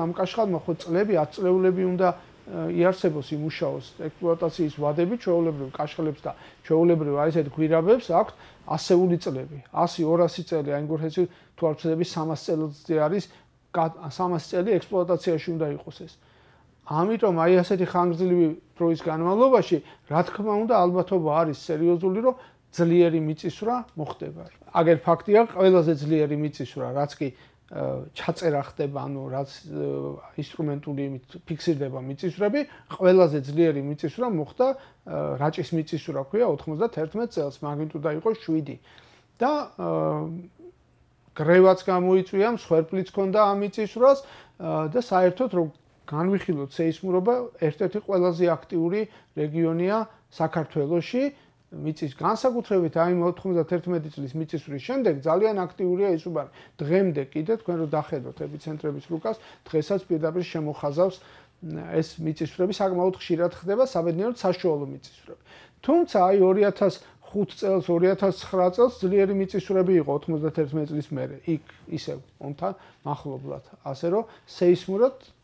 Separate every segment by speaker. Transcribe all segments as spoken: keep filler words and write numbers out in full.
Speaker 1: ამ კაშხალმა ხო წლები, ათ წლეულები უნდა იარსებოს იმუშაოს ექსპლუატაციის ვადები, ჩვეულებრივ კაშხლებს და ჩვეულებრივ აი ესეთ გვირაბებს აქვთ ასეული წლები. ასი ორასი წელი აი გურხეთში თუ არ ვცდები სამას წელზე არის სამას წელი ექსპლუატაციაში უნდა იყოს ეს. ამიტომ აი ასეთი ხანგრძლივი დროის განმავლობაში, რა თქმა უნდა, ალბათობა არის სერიოზული, რომ ძლიერი მიწისძვრა მოხდება. აგერ ფაქტია, ყველაზე ძლიერი მიწისძვრა, რაც კი ჩაწერა ხდება, ანუ რაც ინსტრუმენტული იმით ფიქსირდება მიწისძვრები, ყველაზე ძლიერი მიწისძვრა მოხდა რაჭის მიწისძვრა ქვია ოთხმოცდათერთმეტ წელს, მაგნიტუდა იყო შვიდი. და გრევაც გამოიწვია, მსხვერპლიც ჰქონდა ამ მიწისძვრას და საერთოდ რომ განვიხილოთ სეისმურობა, ერთ-ერთი ყველაზე აქტიური რეგიონია საქართველოში. მიწის განსაკუთრებით აი ოთხმოცდათერთმეტი წლის მიწისძვრის შემდეგ ძალიან აქტიურია ის უბანი. დღემდე კიდე თქვენ რო დახედოთ ეპიცენტრების რუკას, დღესაც პირდაპირ შემოხაზავს ეს მიწისძვრები საკმაოდ ხშირად ხდება საბედნიეროდ საშუალო მიწისძვრები. თუმცა აი ორი ათას ხუთ წელს, ორი ათას ცხრა წელს ძლიერი მიწისძვრები იყო ოთხმოცდათერთმეტი წლის მერე. იქ ისევ ონთან მახლობლად. ასე რომ სეისმურად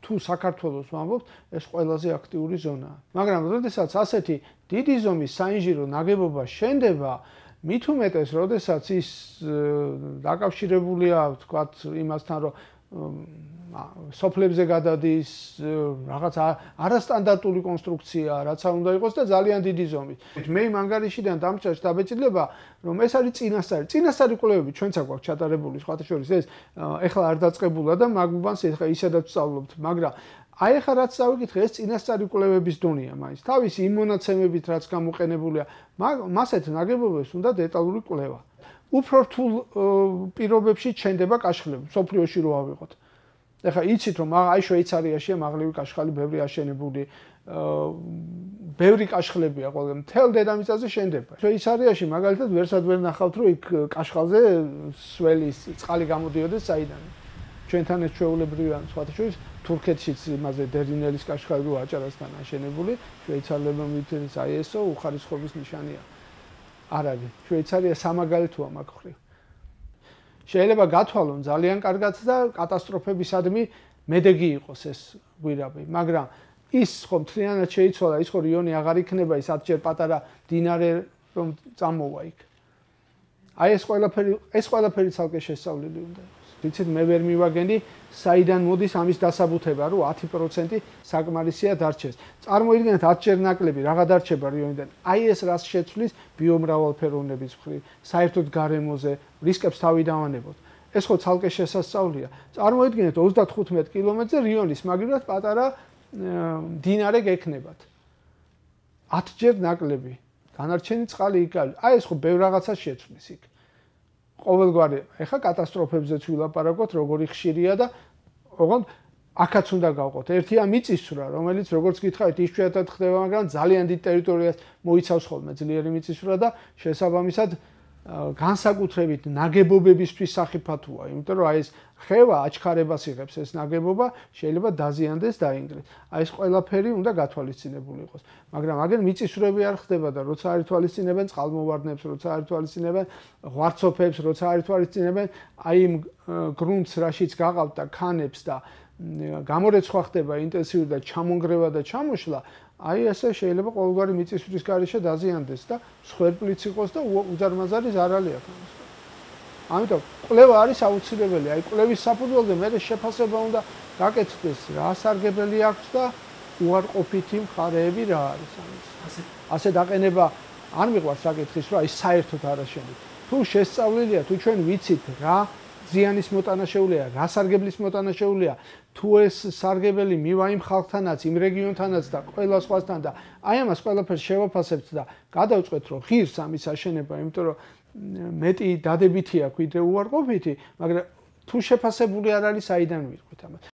Speaker 1: თუ საქართველოს ვამბობთ, ეს ყველაზე აქტიური ზონაა. მაგრამ როდესაც ასეთი დიდი ზომის საინჟირო ნაგებობა შენდება, მით უმეტეს, როდესაც ის დაკავშირებულია, ვთქვათ, იმასთან, რომ სოფლებზე გადადის, რაღაც არასტანდარტული კონსტრუქცია, რაც არ უნდა იყოს და ძალიან დიდი ზომის. მე იმ ანგარიშიდან დამჭერს დაბეჭდილება, რომ ეს არის წინასწარი. წინასწარი კვლევები ჩვენც აქვს ჩატარებული, სხვათა შორის ეს ეხლა არ დაწყებულა და მაგუბანს ეხლა ისედაც ვსწავლობთ, მაგრამ აი ეხლა რაც დავიკითხე, ეს წინასწარი კვლევების დონეა მაინც. თავისი იმ მონაცემებით, რაც გამოყენებულია, მასეთ ნაგებობებს უნდა დეტალური კვლევა. უფრო რთულ პირობებში ჩენდება კაშხლები, სოფლიოში რო ავიღოთ. ეხლა იცით რომ აი შვეიცარიაშია მაღლივი კაშხალი ბევრი აშენებული, ბევრი კაშხლებია ყველა მთელ დედამიწაზე შენდება. შვეიცარიაში მაგალითად ვერსად ვერ ნახავთ რომ იქ კაშხალზე სველის წყალი გამოდიოდეს საიდან. ჩვენთან ეს ჩვეულებრივია, სხვათა შორის თურქეთშიც იმაზე დერინელის კაშხალი რო აჭარასთან აშენებული, შვეიცარიელებმა მითხრეს აი ესო უხარისხობის ნიშანია. არ არის. შვეიცარია სამაგალითოა მაგ ხრივ. შეიძლება გათვალონ ძალიან კარგად და კატასტროფებისადმი მედეგი იყოს ეს გვირაბი, მაგრამ ის ხო მთლიანად შეიცვალა, ის ხო რიონი აღარ იქნება, ის ათჯერ პატარა მდინარე რომ წამოვა იქ. აი ეს ყველაფერი, ეს ყველაფერი ცალკე შესწავლილი უნდა იყოს. ვიცით, მე ვერ მივაგენი, საიდან მოდის ამის დასაბუთება, რომ ათი პროცენტი საკმარისია დარჩეს. წარმოიდგინეთ ათჯერ ნაკლები რაღა დარჩება რიონიდან. აი ეს რას შეცვლის ბიომრავალფეროვნების მხრივ, საერთოდ გარემოზე, რისკებს თავი დავანებოთ. ეს ხო ცალკე შესასწავლია. წარმოიდგინეთ ოცდათხუთმეტ კილომეტრზე რიონის მაგივრად პატარა მდინარე გექნებათ. ათჯერ ნაკლები. დანარჩენი წყალი იქ არის. აი ეს ხო ბევრ რაღაცას შეცვლის იქ. ყოველგვარი ეხა კატასტროფებზეც ვილაპარაკოთ, როგორი ხშირია და ოღონდ აქაც უნდა გავყოთ. ერთია მიწისძვრა, რომელიც როგორც გითხარით, იშვიათად ხდება, მაგრამ ძალიან დიდ ტერიტორიას მოიცავს ხოლმე ძლიერი მიწისძვრა და შესაბამისად განსაკუთრებით ნაგებობებისთვის სახიფათოა, იმიტომ რომ აი ეს ხევა აჩქარებას იღებს ეს ნაგებობა, შეიძლება დაზიანდეს, დაინგრეს. აი ეს ყველაფერი უნდა გათვალისწინებული იყოს. მაგრამ აგერ მიწისძვრები არ ხდება და როცა არ ითვალისწინებენ წყალმოვარდნებს, როცა არ ითვალისწინებენ ღვარცოფებს, როცა არ ითვალისწინებენ აი იმ გრუნტს, რაშიც გაყავთ და ქანებს და გამორეცხვა ხდება ინტენსიური და ჩამონგრევა და ჩამოშლა, აი ესე შეიძლება ყოველგვარი მიწისძვრის გარეშე დაზიანდეს და მსხვერპლიც იყოს და უზარმაზარი ზარალი აქვს. ამიტომ კვლევა არის აუცილებელი. აი კვლევის საფუძველზე მე შეფასება უნდა გაკეთდეს, რა სარგებელი აქვს და უარყოფითი მხარეები რა არის ამის. ასე დაყენება არ მიყვარს საკითხის, რომ აი საერთოდ არ აშენით. თუ შესწავლილია, თუ ჩვენ ვიცით რა ზიანის მოტანა შეუულია, რა სარგებლის მოტანა შეუულია, თუ ეს სარგებელი მივა იმ ხალხთანაც, იმ რეგიონთანაც და ყველა სხვასთან და აი ამას ყველაფერს შევაფასებთ და გადავწყვეტ, რომ ღირს ამის აშენება, იმიტომ რომ მეტი დადებითი აქვს ვიდრე უარყოფითი, მაგრამ თუ შეფასებული არ არის, საიდან ვირკვით ამას.